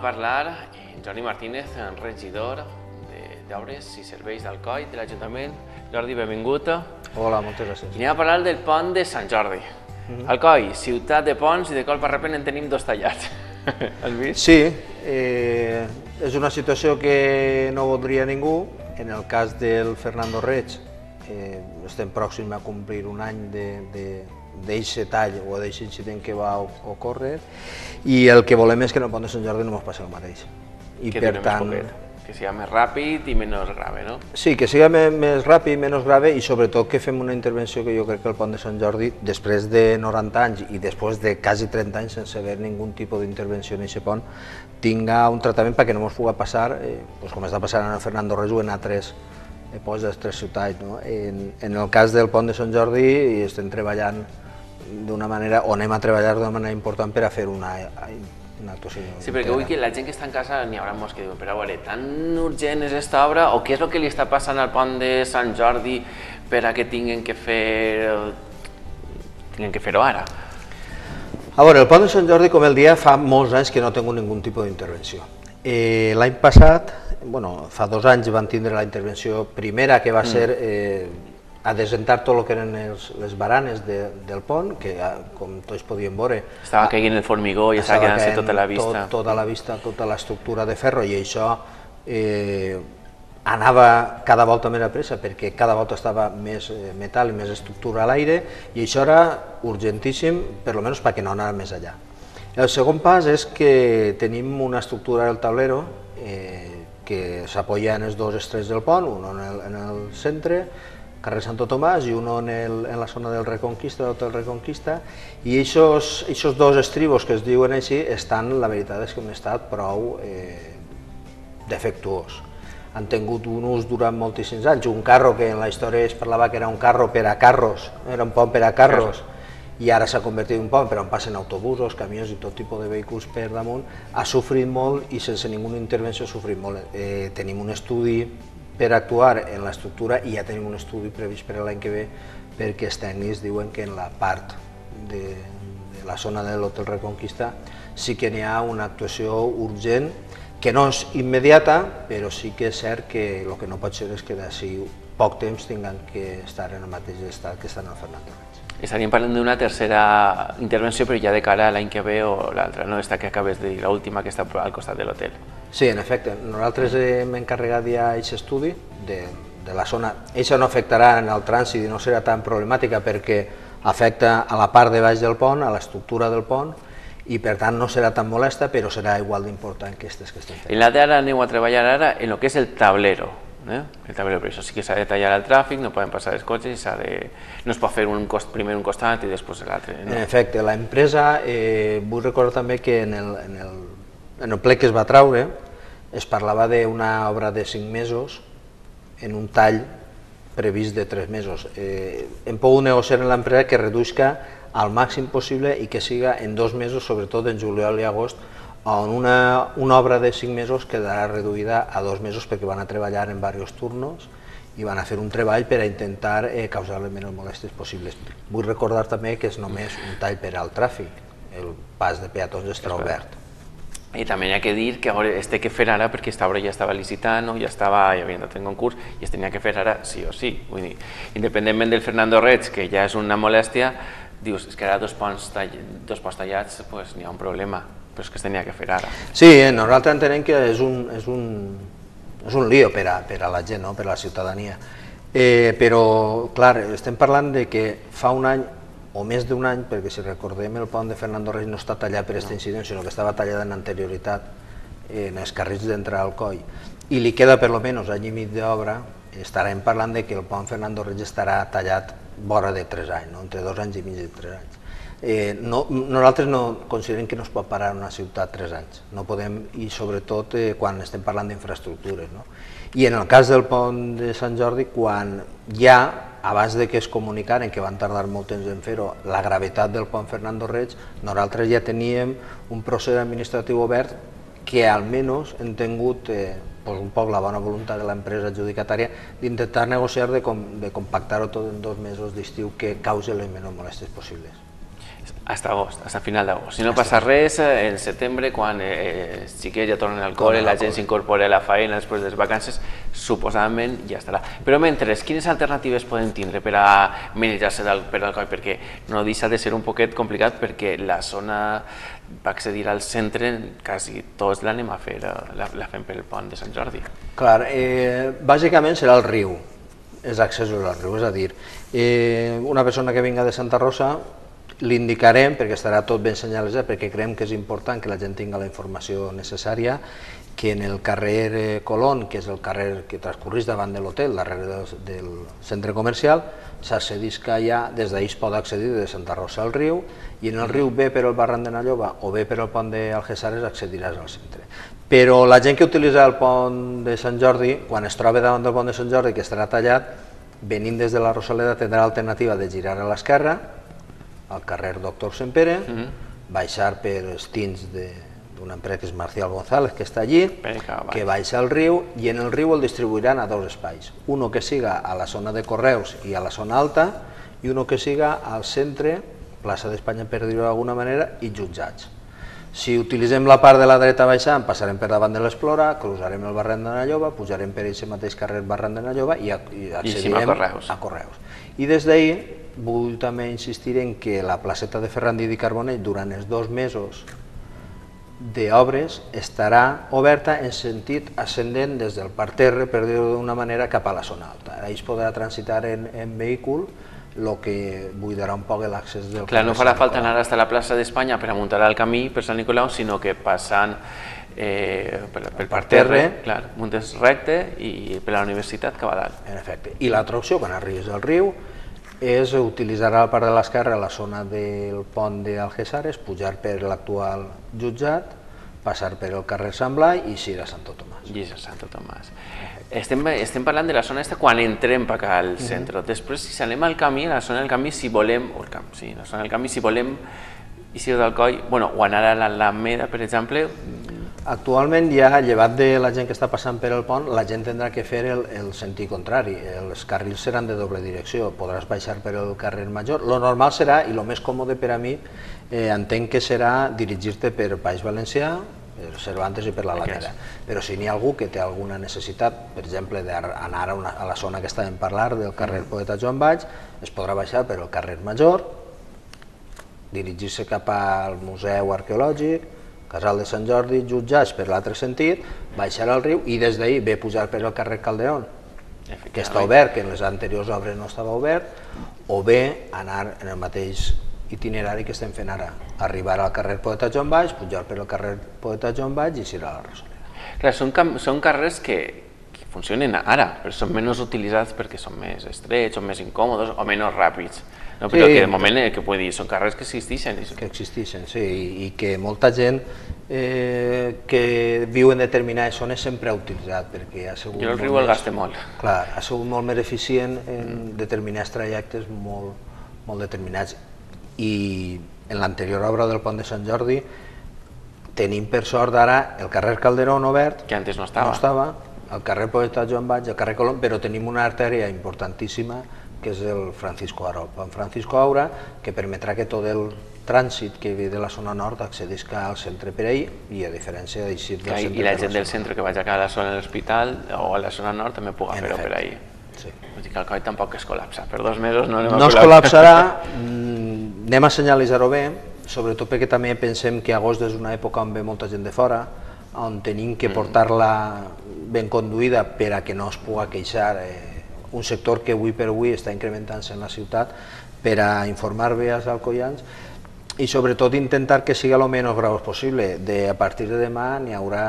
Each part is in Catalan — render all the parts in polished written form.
parlar en Jordi Martínez, regidor d'Obres i Serveis d'Alcoi de l'Ajuntament. Jordi, benvingut. Hola, moltes gràcies. I anem a parlar del pont de Sant Jordi. Alcoi, ciutat de ponts, i de colp a repent en tenim dos tallats. Has vist? Sí, és una situació que no voldria ningú. En el cas del Fernando Reig, estem pròxims a complir un any d'eixe tall o d'eixe incident que va ocórrer, i el que volem és que en el pont de Sant Jordi no ens passi el mateix. Que dure més poquet, que sigui més ràpid i menys grave, no? Sí, que sigui més ràpid, menys grave, i sobretot que fem una intervenció que jo crec que el pont de Sant Jordi, després de 90 anys i després de quasi 30 anys sense haver ningun tipus d'intervenció en aquest pont, tinga un tractament perquè no ens pugui passar, com està passant en el Fernando Reig o en altres altres ciutats. En el cas del pont de Sant Jordi estem treballant d'una manera, o anem a treballar d'una manera important per a fer una actuació. Sí, perquè vull que la gent que està en casa n'hi haurà molts que diuen, però a veure, tan urgent és aquesta obra, o què és el que li està passant al pont de Sant Jordi per a que tinguin que fer-ho ara? A veure, el pont de Sant Jordi, com el dia, fa molts anys que no ha tingut ningun tipus d'intervenció. L'any passat, fa 2 anys, van tindre la intervenció primera, que va ser a desentar tot el que eren les baranes del pont, que com tots podíem veure... Estava caient el formigó i estava quedant-se tota la vista. Tota la vista, tota l'estructura de ferro, i això anava cada volta més a pressa perquè cada volta estava més metall i més estructura a l'aire, i això era urgentíssim, per almenys perquè no anava més allà. El segon pas és que tenim una estructura del tablero que s'apoya en els dos extrems del pont, un en el centre, carrer Santo Tomàs, i un en la zona del Reconquista, de l'Hotel Reconquista, i aquests dos estribos que es diuen així estan, la veritat és que han estat prou defectuós. Han tingut un ús durant moltíssims anys, un carro que en la història es parlava que era un carro per a carros, era un pont per a carros, i ara s'ha convertit en un pont per on passen autobusos, camions i tot tipus de vehicles per damunt. Ha sofrit molt i sense ninguna intervenció ha sofrit molt. Tenim un estudi per actuar en l'estructura i ja tenim un estudi previst per l'any que ve, perquè els tècnics diuen que en la part de la zona de l'Hotel Reconquista sí que n'hi ha una actuació urgent, que no és immediata, però sí que és cert que el que no pot ser és que d'ací poc temps tinguin que estar en el mateix estat que estan al Fernando Reig. Estaríem parlant d'una tercera intervenció, però ja de cara a l'any que ve o l'altra, no? Esta que acabes de dir, l'última que està al costat de l'hotel. Sí, en efecte. Nosaltres hem encarregat ja aquest estudi de la zona. Això no afectarà en el trànsit i no serà tan problemàtica perquè afecta a la part de baix del pont, a l'estructura del pont, i per tant no serà tan molesta, però serà igual d'important que aquestes que estem fent. En la d'ara aneu a treballar ara en el que és el tablero. El tablero, per això sí que s'ha de tallar el tràfic, no poden passar els cotxes, no es pot fer primer un costat i després l'altre. En efecte, l'empresa, vull recordar també que en el ple que es va traure es parlava d'una obra de 5 mesos en un tall previst de 3 mesos. Hem pogut negociar amb l'empresa que reduïsca al màxim possible i que siga en 2 mesos, sobretot en juliol i agost, on una obra de 5 mesos quedarà reduïda a 2 mesos perquè van a treballar en diversos turnos i van a fer un treball per a intentar causar les menys molèsties possibles. Vull recordar també que és només un tall per al tràfic, el pas de peatons estarà obert. I també hi ha que dir que es té que fer ara perquè aquesta obra ja estava licitant, ja havia entrat en concurs i es tenia que fer ara sí o sí. Vull dir, independentment del Fernando Reig, que ja és una molèstia, dius, és que ara dos ponts tallats n'hi ha un problema, però és que es tenia que fer ara. Sí, nosaltres entenem que és un lío per a la gent, per a la ciutadania. Però, clar, estem parlant de que fa un any o més d'un any, perquè si recordem el pont de Fernando Reig no està tallat per aquest incident, sinó que estava tallat en anterioritat en els carrils d'entrar al coll, i li queda per almenys any i mig d'obra. Estarem parlant de que el pont Fernando Reig estarà tallat vora de 3 anys, entre 2 anys i mig i 3 anys. Nosaltres no considerem que no es pot parar en una ciutat 3 anys, no podem, i sobretot quan estem parlant d'infraestructures. I en el cas del pont de Sant Jordi, quan ja, abans que es comunicaren, que van tardar molt temps en fer-ho, la gravetat del pont Fernando Reig, nosaltres ja teníem un procés administratiu obert que almenys hem tingut un poc la bona voluntat de l'empresa adjudicatària d'intentar negociar de compactar-ho tot en 2 mesos d'estiu que causi les menys molèsties possibles. Hasta agost, hasta final d'agost. Si no passa res, en setembre, quan els xiquets ja tornen al col·le, la gent s'incorpora a la feina després de les vacances, suposadament ja estarà. Però mentre, quines alternatives podem tindre per a manejar-se per al coll? Perquè no deixa de ser un poquet complicat perquè la zona per accedir al centre quasi tots l'anem a fer, la fem pel pont de Sant Jordi. Clar, bàsicament serà el riu, els accessos al riu, és a dir, una persona que vinga de Santa Rosa l'indicarem perquè estarà tot ben senyalitzat, perquè creiem que és important que la gent tingui la informació necessària, que en el carrer Colón, que és el carrer que transcorreix davant de l'hotel, darrere del centre comercial, s'accedeix que allà, des d'ahir es pot accedir de Santa Rosa al riu, i en el riu ve per el barranc de Nalloba o ve per el pont d'Algessares accediràs al centre. Però la gent que utilitza el pont de Sant Jordi, quan es troba davant del pont de Sant Jordi, que estarà tallat, venint des de la Rosaleda tindrà l'alternativa de girar a l'esquerra, al carrer Doctor Sempere, baixar per els tins d'una empresa que és Marcial González, que està allí, que baixa al riu, i en el riu el distribuiran a dos espais. Uno que siga a la zona de Correus i a la zona alta, i uno que siga al centre, plaça d'Espanya per dir-ho d'alguna manera, i jutjats. Si utilitzem la part de la dreta baixant, passarem per davant de l'Explora, cruzarem el barranc de Nalloba, pujarem per aquest mateix carrer barranc de Nalloba i accedirem a Correus. I des d'ahir vull també insistir en que la placeta de Ferrandí i Carbonell durant els 2 mesos d'obres estarà oberta en sentit ascendent des del parterre, per dir-ho d'una manera, cap a la zona alta. Allà es podrà transitar en vehícul, el que buidarà un poc l'accés del carrer. Clar, no farà falta anar fins a la plaça d'Espanya per a muntar el camí per Sant Nicolau, sinó que passant pel parterre, muntes recte i per la universitat cap a dalt. En efecte. I l'altra opció, quan arribis al riu, és utilitzar la part de l'esquerra a la zona del pont d'Algessares, pujar per l'actual jutjat, passar per el carrer Sant Blai i eixir a Santo Tomàs. I a Santo Tomàs. Estem parlant de la zona aquesta quan entrem per acá al centre. Després, si anem al camí, a la zona del camí, si volem, la zona del camí, si volem eixir del coll, o anar a l'Alameda, per exemple. Actualment ja, llevat de la gent que està passant per el pont, la gent tindrà que fer el sentit contrari. Els carrils seran de doble direcció, podràs baixar per el carrer Major. Lo normal serà, i el més còmode per a mi, entenc que serà dirigir-te per Baix Valencià, per Cervantes i per l'Alameda. Però si n'hi ha algú que té alguna necessitat, per exemple, d'anar a la zona que estàvem parlant, del carrer Poeta Joan Baig, es podrà baixar per el carrer Major, dirigir-se cap al Museu Arqueològic, Casal de Sant Jordi, jutjats per l'altre sentit, baixar al riu i des d'ahir ve pujar per el carrer Calderón, que està obert, que en les anteriors obres no estava obert, o bé anar en el mateix itinerari que estem fent ara, arribar al carrer Poeta Joan Baix, pujar per el carrer Poeta Joan Baix i eixir a la Rosaleda. Clar, són carrers que funcionen ara, però són menys utilitzats perquè són més estrets, són més incòmodes o menys ràpids. Però que de moment que puc dir, són carrers que existeixen. Que existeixen, sí, i que molta gent que viu en determinades zones sempre ha utilitzat, perquè ha sigut... Jo el riu el gaste molt. Clar, ha sigut molt més eficient en determinats trajectes molt determinats. I en l'anterior obra del pont de Sant Jordi tenim per sort ara el carrer Calderón obert, que antes no estava, el carrer Poeta Joan Baig, el carrer Colón, però tenim una artèria importantíssima que és el Francisco Aura, el pont Francisco Aura, que permetrà que tot el trànsit que ve de la zona nord accedisca al centre per ahir, i a diferència d'eixir del centre... I la gent del centre que vaig a la zona de l'hospital o a la zona nord també puga fer-ho per ahir. Vull dir que el coll tampoc es col·lapsa, per 2 mesos no anem a col·lapsar. No es col·lapsarà, anem a senyalitzar-ho bé, sobretot perquè també pensem que agost és una època on ve molta gent de fora, on tenim que portar-la ben conduïda per a que no es pugui queixar un sector que avui per avui està incrementant-se en la ciutat, per a informar bé als alcoians i sobretot intentar que sigui el menys graus possible. A partir de demà n'hi haurà,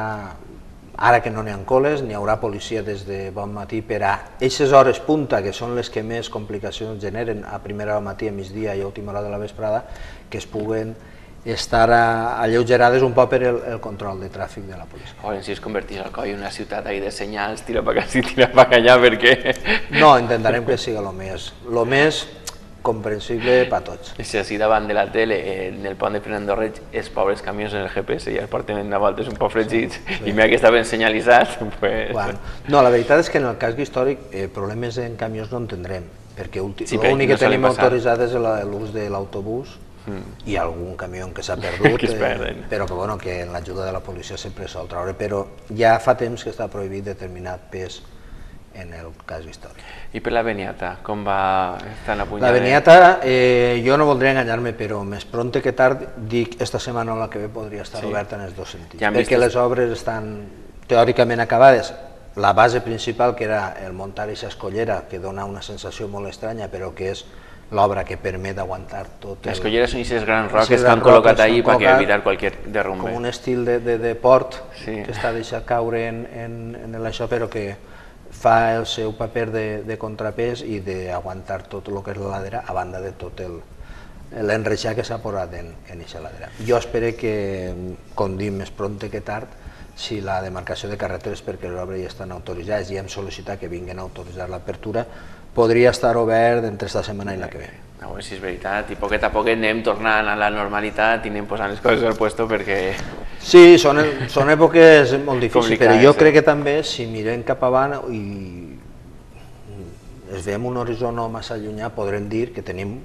ara que no n'hi ha col·les, n'hi haurà policia des de bon matí per a aquestes hores punta, que són les que més complicacions generen, a primera hora del matí, a migdia i a última hora de la vesprada, que es puguen estar alleugerades un poc per el control de tràfic de la policia. Si es convertís al coll en una ciutat de senyals, tira per acá, tira per allà, perquè... No, intentarem que sigui el més comprensible per tots. Si així davant de la tele, en el pont de Fernando Reig, els pobres camions en el GPS ja es porten de voltes un poc fregits, i mira que està ben senyalitzat. No, la veritat és que en el casc històric problemes en camions no en tindrem, perquè l'únic que tenim autoritzat és l'ús de l'autobús i algun camió que s'ha perdut, que es perden. però que, bueno, que amb l'ajuda de la policia sempre sol treure, però ja fa temps que està prohibit determinat pes en el cas històric. I per la Beniata, com va estar la punyada? La Beniata, jo no voldria enganyar-me, però més pronte que tard, dic, esta setmana o la que ve podria estar oberta en els dos sentits, perquè les obres estan teòricament acabades. La base principal, que era el muntar aquesta escollera, que dona una sensació molt estranya, però que és l'obra que permet aguantar tot el... Les colleres són aquestes grans roques que han col·locat allí per evitar qualsevol derrumbe. Com un estil de port que està deixat caure en això, però que fa el seu paper de contrapès i d'aguantar tot el que és la ladera, a banda de tot l'enreixar que s'ha posat en aquesta ladera. Jo espero que, com dic, més pronte que tard, si la demarcació de carreteres, perquè les obres ja estan autoritzades i hem sol·licitat que vinguin a autoritzar l'apertura, podria estar obert entre esta setmana i la que ve. A veure si és veritat, i poquet a poquet anem tornant a la normalitat i anem posant les coses al puesto perquè... Sí, són èpoques molt difícils, però jo crec que també, si mirem cap avant i es veiem un horitzó no massa llunyà, podrem dir que tenim...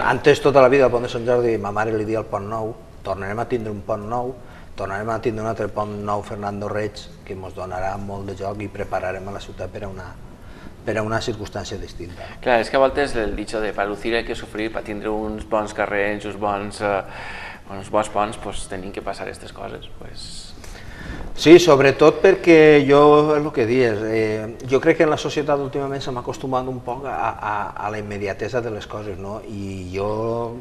Antes, tota la vida, al pont de Sant Jordi, ma mare li dia el pont nou, tornarem a tindre un pont nou, tornarem a tindre un altre pont nou Fernando Reig, que ens donarà molt de joc i prepararem a la ciutat per a una circumstància distinta. Clar, és que a voltes el dicho de para lucir hay que sufrir, per tindre uns bons carrers, uns bons ponts, doncs tenim que passar aquestes coses. Sí, sobretot perquè jo, és el que dius, jo crec que en la societat últimament s'ha acostumat un poc a la immediatesa de les coses, no? I jo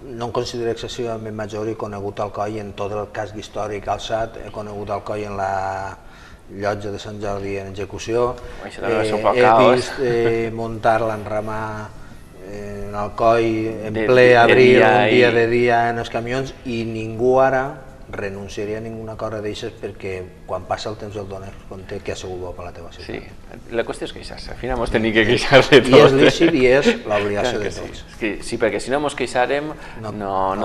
no em considero excessivament major i he conegut Alcoi en tot el casc històric alçat, he conegut Alcoi en la llotja de Sant Jordi en execució, he vist muntar l'enramar en Alcoi en ple abril, un dia de dia en els camions, i ningú ara renunciaria a ninguna cosa d'aixes perquè quan passa el temps el dones compte que ha sigut bo per la teva ciutat. Sí, la qüestió és queixar-se, al final ens tenim que queixar de tot. I és lícit i és l'obligació de tots. Sí, perquè si no ens queixarem no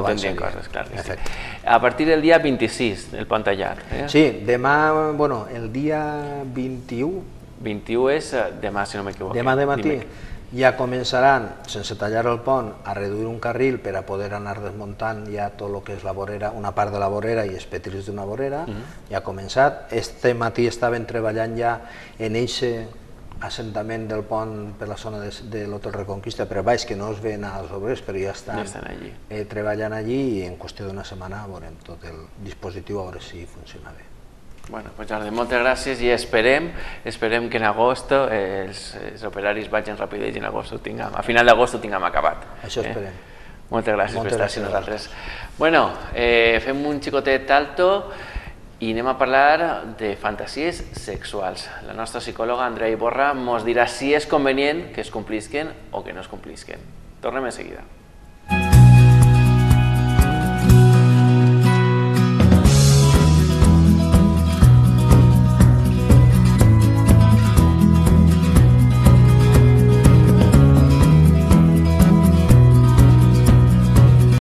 tindríem coses, clar que sí. A partir del dia 26, el pont tallat. Sí, demà, bueno, el dia 21... 21 és demà, si no m'equivoco. Demà de matí ja començaran, sense tallar el pont, a reduir un carril per a poder anar desmuntant ja tot el que és la vorera, una part de la vorera i els petris d'una vorera, ja ha començat. Este matí estaven treballant ja en aquest assentament del pont per la zona de l'Hotel Reconquista per baix, que no es ven als obrers, però ja estan treballant allí i en qüestió d'una setmana veurem tot el dispositiu a veure si funciona bé. Bueno, pues Jordi, moltes gràcies i esperem que en agost els operaris vagin ràpid i a final d'agost ho tinguem acabat. Això esperem. Moltes gràcies per estar amb nosaltres. Bueno, fem un xicotet alto i anem a parlar de fantasies sexuals. La nostra psicòloga Andrea Iborra ens dirà si és convenient que es complisquen o que no es complisquen. Tornem en seguida.